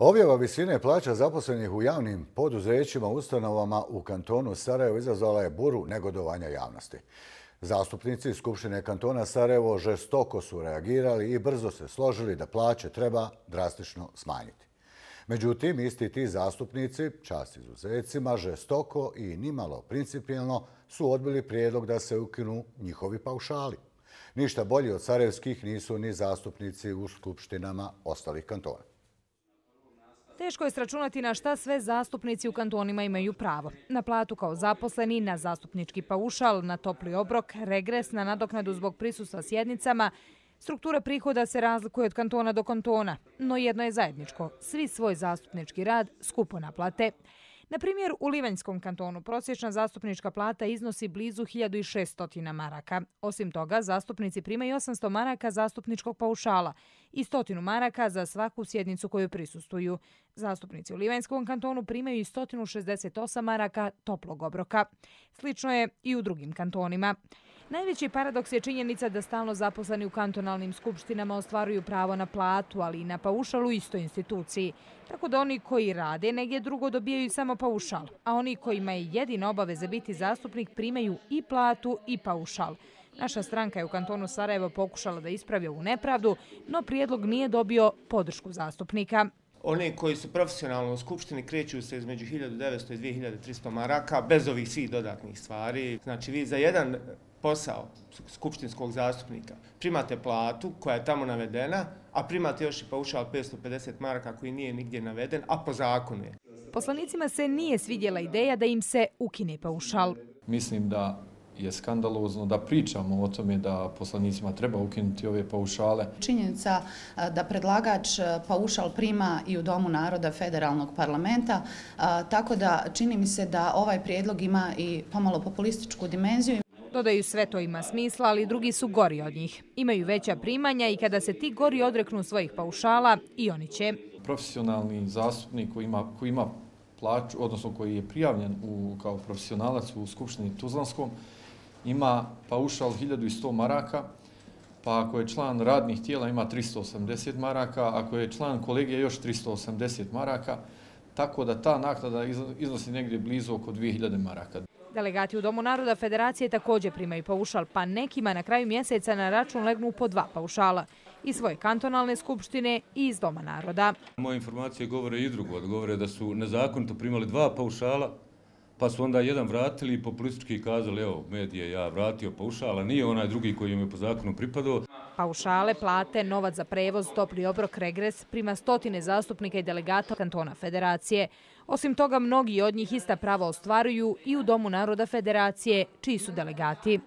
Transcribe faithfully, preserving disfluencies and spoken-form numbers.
Objava visine plaća zaposlenih u javnim poduzećima, ustanovama u kantonu Sarajevo izazvala je buru negodovanja javnosti. Zastupnici Skupštine kantona Sarajevo žestoko su reagirali i brzo se složili da plaće treba drastično smanjiti. Međutim, isti ti zastupnici, čast izuzecima, žestoko i nimalo principijelno su odbili prijedlog da se ukinu njihovi paušali. Ništa bolji od sarajevskih nisu ni zastupnici u skupštinama ostalih kantona. Teško je sračunati na šta sve zastupnici u kantonima imaju pravo. Na platu kao zaposleni, na zastupnički paušal, na topli obrok, regres, na nadoknadu zbog prisustva sjednicama. Struktura prihoda se razlikuje od kantona do kantona, no jedno je zajedničko. Svi svoj zastupnički rad skupo naplate. Na primjer, u Livanjskom kantonu prosječna zastupnička plata iznosi blizu hiljadu šesto maraka. Osim toga, zastupnici primaju osamsto maraka zastupničkog paušala i stotinu maraka za svaku sjednicu koju prisustvuju. Zastupnici u Livanjskom kantonu primaju i sto šezdeset osam maraka toplog obroka. Slično je i u drugim kantonima. Najveći paradoks je činjenica da stalno zaposleni u kantonalnim skupštinama ostvaruju pravo na platu, ali i na paušal u istoj instituciji. Tako da oni koji rade negdje drugo dobijaju samo paušal, a oni kojima je jedina obaveza biti zastupnik primaju i platu i paušal. Naša stranka je u kantonu Sarajevo pokušala da ispravi ovu nepravdu, no prijedlog nije dobio podršku zastupnika. Oni koji su profesionalno u skupštini kreću se između hiljadu devetsto i dvije hiljade tristo maraka bez ovih svih dodatnih stvari. Znači vi za jedan posao skupštinskog zastupnika primate platu koja je tamo navedena, a primate još i paušal petsto pedeset maraka koji nije nigdje naveden, a po zakonu je. Poslanicima se nije svidjela ideja da im se ukine paušal. Mislim da je skandalozno da pričamo o tome da poslanicima treba ukinuti ove paušale. Činjenica da predlagač paušal prima i u Domu naroda federalnog parlamenta, tako da čini mi se da ovaj prijedlog ima i pomalo populističku dimenziju. Dodaju, sve to ima smisla, ali drugi su gori od njih. Imaju veća primanja i kada se ti gori odreknu svojih paušala, i oni će. Profesionalni zastupnik koji ima, koji ima plaću, odnosno koji je prijavljen u, kao profesionalac u Skupštini Tuzlanskom, ima paušal hiljadu sto maraka, pa ako je član radnih tijela ima tristo osamdeset maraka, ako je član kolegija još tristo osamdeset maraka, tako da ta naknada iznosi negdje blizu oko dvije hiljade maraka. Delegati u Domu naroda Federacije također primaju paušal, pa nekima na kraju mjeseca na račun legnu po dva paušala. Iz svoje kantonalne skupštine i iz Doma naroda. Moje informacije govore i drugo, govore da su nezakonito primali dva paušala, pa su onda jedan vratili i populistički kazali, evo, medije, ja vratio paušala, nije onaj drugi koji im je po zakonu pripadao. Paušale, plate, novac za prevoz, topli obrok, regres prima stotine zastupnika i delegata kantona Federacije. Osim toga, mnogi od njih ista prava ostvaruju i u Domu naroda Federacije, čiji su delegati.